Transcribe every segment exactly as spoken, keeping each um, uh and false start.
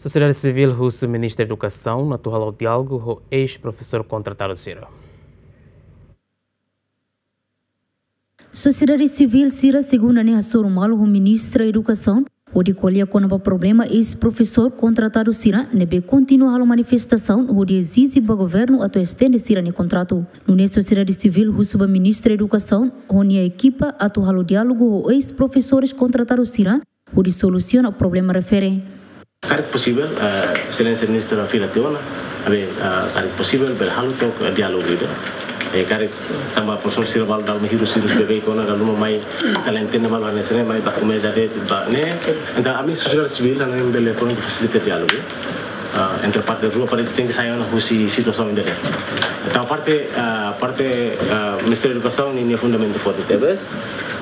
Sosiedade sivíl husu Ministra Edukasaun atu halo diálogu ho eis-profesór kontratadu sira. Sosiedade sivíl sira segunda ne'e hasoru malu ho Ministra Edukasaun hodi ko'alia kona-ba problema eis-profesór kontratadu sira ne'ebé kontinua halo manifestasaun hodi ezije ba governu atu estende sira-nia kontratu. Nune'e sosiedade sivíl husu ba Ministra Edukasaun ho nia ekipa atu halo diálogu ho eis-profesores kontratadu sira hodi solusiona problema refere. Karik posivel, eh, Exelénsia Ministra fila tiha ona, ami, eh, karik posivel bele halo took, eh, diálogu ida. Eh, karik tanba profesór sira balu dala hirus-hirus beibeik ona, dala ruma mai talentene malu hanesan ne'e, mai baku meza de'it ba ne'e. Entaun ami sosiedade sivíl ami bele prontu fasilita diálogu, eh, entre parte rua para tenke sai ona husi situasaun ida-ne'e. Entaun parte, eh, parte, eh, Ministériu Edukasaun ninia fundamentu forte tebes.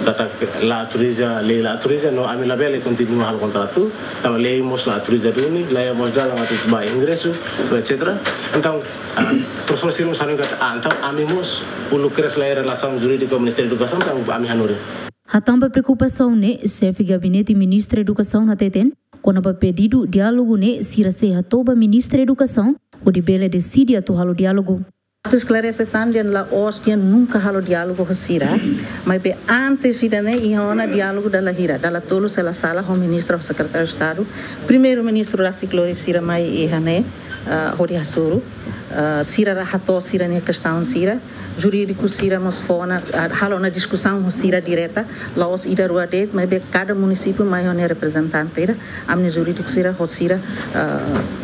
Katak la autoriza, lei la autoriza, no ami labele kontinua halo kontratu, tanba lei mós la autoriza duni, lei mós dalan atu ba ingresu, etcétera. Entaun, ah, profesór sira mós hanoin katak, ah, entaun ami mós uluk kedas laiha relasaun jurídika ho Ministériu Edukasaun, entaun ami hanorin. Hatán ba preokupasaun ne'e, xefe gabinete Ministra Edukasaun hateten, kona-ba pedidu diálogu ne'e sira sei hato'o ba Ministra Edukasaun hodi bele deside atu halo diálogu. Atu esklarese tan dehan la'ós dehan nunka halo diálogu ho sira, maibé antes ida-ne'e iha ona diálogu dala hira, dala tolu se la sala ho Ministra ho Sekretáriu Estadu. Primeiru-Ministru rasik lori sira mai iha ne'e, ah, hodi hasoru, ah, sira la hato'o sira-nia kestaun sira, jurídiku sira mós fó ona, ah, halo ona diskusaun ho sira direta, la'ós ida rua de'it, maibé kada munisípiu mai ho nia reprezentante ida, ami-nia jurídiku sira ho sira, ah,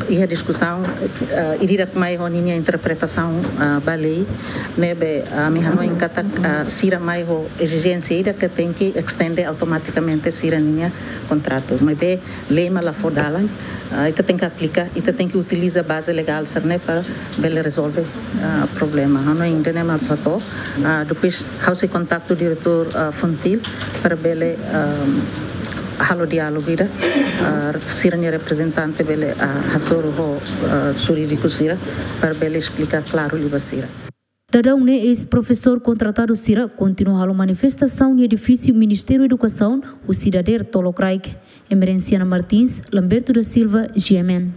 iha diskusaun, ah, ida-idak mai ho ninia interpretasaun, ah, ba lei, ne'ebé, ah, ami hanoin katak, ah, sira mai ho ezijénsia ida ke tenke estende automatikamente sira-ninia kontratu. Maibé lei mak la fó dalan, ah, ita tenke aplika, ita tenke utiliza baze legál sira-ne'e para bele rezolve, ah, problema. Ha'u hanoin ida-ne'e mak atu hato'o, ah, depois ha'u sei kontaktu diretór, ah, Funtil para bele, ah, halo diálogu ida, ah, sira-nia reprezentante bele, ah, hasoru ho, ah, jurídiku sira para bele esplika klaru liu ba sira. Daudaun ne'e eis-profesór kontratadu sira kontinua halo manifestasaun iha edifísiu Ministériu Edukasaun, husi dadeer tolokraik. Emerenciana Martins, Lamberto da Silva, G M N.